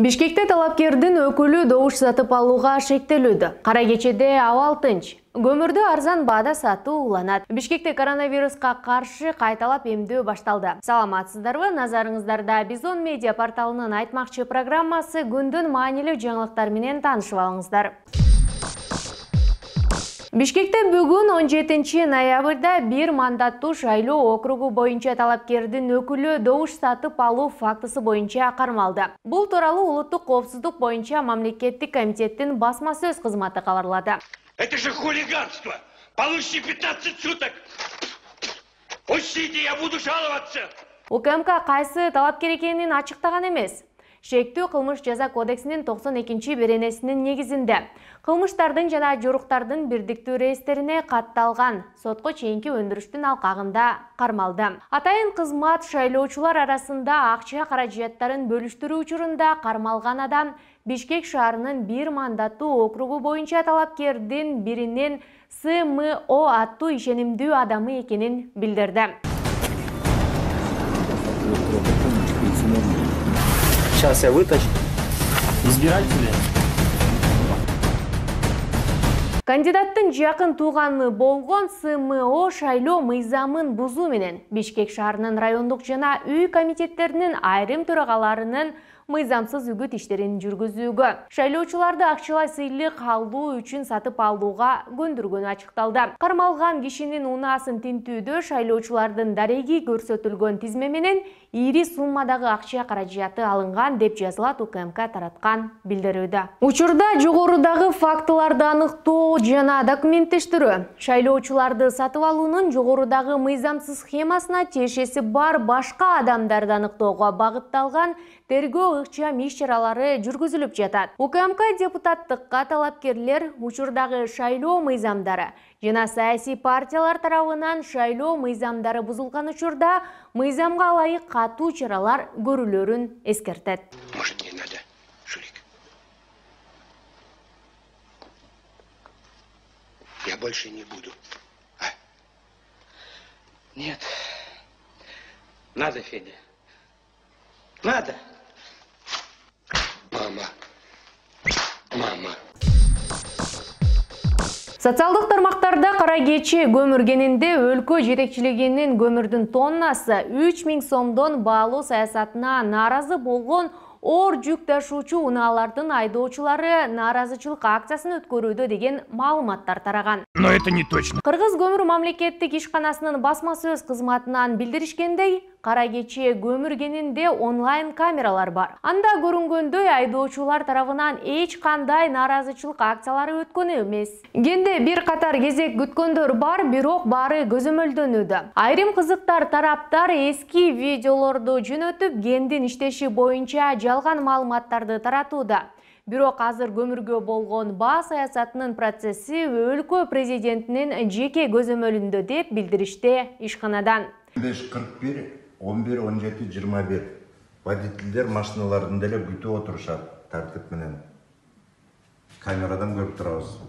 Бишкекте талапкердин өкүлү добуш сатып алууга шектелүүдө. Кара кечеде абал тынч. Көмүрдү арзан баада сатуу уланат. Бишкекте коронавируска каршы кайталап эмдөө башталды. Саламатсыздарбы? Назарыңыздарда Бизон медиа порталынын айтмакчы программасы күндүн маанилүү жаңылыктар менен таанышып алыңыздар. Бишкекте бүгүн 17 ноябрда бир мандаттуу шайлоо округу боюнча талапкердин өкүлү добуш сатып алуу фактысы боюнча кармалды. Бул тууралуу Улуттук коопсуздук боюнча мамлекеттик комитеттин басма сөз кызматы кабарлады. Это же хулиганство! Получите 15 суток! Пустите, я буду жаловаться! УКМК кайсы талапкер экенин ачыктаган эмес. Шектүү кылмыш жаза кодексинин 92-беренесинин негизинде кылмыштардын жана жоруктардын бирдиктүү реестерине катталган сотко чейинки өндүрүштүн алкагында кармалды. Атайын кызмат шайлоочулар арасында акча каражаттарын бөлүштүрүү учурунда кармалган адам Бишкек шаарынын бир мандаттуу округу боюнча талапкердин биринин СМО аттуу ишенимдүү адамы экенин билдирди. Сейчас я вытащу. Избиратели. Кандидаттын жакын тууганы болгон СМО шайлоо мыйзамын бузуу менен Бишкек шаарынын райондук жана үй комитеттеринин айрым төрагаларынын мыйзамсыз үгүт иштерин жүргүзүүгө, шайлоочуларды акчалай сыйлык алуу үчүн сатып алууга көндүргөнү ачыкталды. Кармалган кишинин унаасын тинтүүдө шайлоочулардын дареги көрсөтүлгөн тизме менен ири суммадагы акча каражаты алынган деп жазылат УКМК тараткан билдирүүдө. Учурда жогорудагы фактыларды аныктоо жана документтештирүү, шайлоочуларды сатып алуунун жогорудагы мыйзамсыз схемасына тиешеси бар башка адамдарды аныктоого багытталган тергөө ыкчам иш-чаралары жүргүзүлүп жатат. УКМК депутаттыкка талапкерлер учурдагы шайлоо мыйзамдары жана саясий партиялар тарабынан шайлоо мыйзамдары бузулган учурда мыйзамга ылайык катуу чаралар көрүлөрүн эскертет. Может, не надо, Шурик? Я больше не буду. А? Нет. Надо, Федя. Надо. Мама. Социалдык тармактарда кара кече көмүргенинде өлкө жетекчилигинин көмүрдүн тоннасы 3000 сомдон баалуу саясатына нааразы болгон оор жүк ташуучу унаалардын айдоочулары нааразычылык акциясын өткөрүүдө деген маалыматтар тараган. Но это не точно. Кыргыз көмүр мамлекеттик ишканасынын басма сөз кызматынан билдиришкендей, кара кече көмүргенинде онлайн камералар бар. Анда көрүнгөндөй айдоочулар тарабынан эч кандай нааразычылык акциялары өткөн эмес. Кенде бир катар кезек күткөндөр бар, бирок баары көзөмөлдөнүүдө. Айрым кызыктар тараптар эски видеолорду жөнөтүп, кендин иштеши боюнча жалган маалыматтарды таратууда. Бирок азыр көмүргө болгон баа саясатынын процесси өлкө президентинин жеке көзөмөлүндө деп билдиришти ишканадан. 5:41, 11:17, 21. Водительдер машиналарын деле күтүп отурушат тартип менен. Камерадан көрүп турабыз.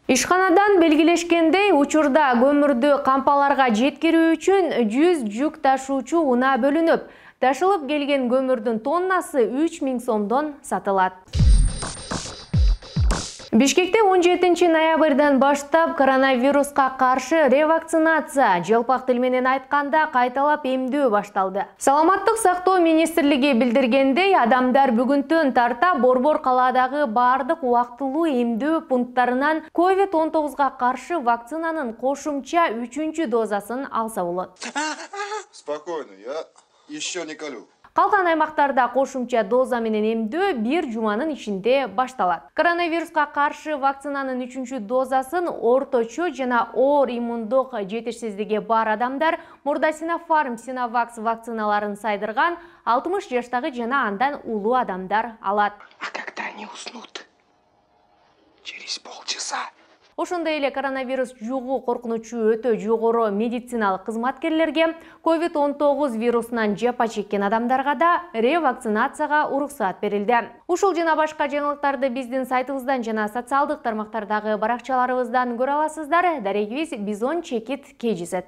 Ишканадан белгилешкендей, учурда көмүрдү кампаларга жеткирүү үчүн 100 жүк ташуучу унаа бөлүнүп, ташылып келген көмүрдүн тоннасы 3000 сомдон сатылат. Бишкекте 17 ноябрдан баштап коронавируска каршы ревакцинация, жалпак тил менен айтканда кайталап эмдөө башталды. Саламаттык сактоо министрлиги билдиргендей, адамдар бүгүнтөн тарта Борбор калаадагы бардык убактылуу эмдөө пункттарынан COVID-19 каршы вакцинанын кошумча 3-чү дозасын алса болот. Спокойно, я еще не колю. Калган аймактарда кошумча доза менен эмдөө бир жуманын ичинде башталат. Коронавируска каршы вакцинанын 3-чү дозасын орточо жана оор иммундук жетишсиздиги бар адамдар мурда Синофарм, Синовакс вакциналарын сайдырган 60 жаштагы жана андан улуу адамдар алат. А когда они уснут? Через полчаса. Ошондой эле коронавирус жугуу коркунучу өтө жогору медициналык кызматкерлерге, COVID-19 вирусунан жапа чеккен адамдарга да ревакцинацияга уруксат берилди. Ушул жана башка жаңылыктарды биздин сайтыбыздан жана социалдык тармактардагы баракчаларыбыздан көрө аласыздар. Дарегибиз Бизон Чекит KGZ.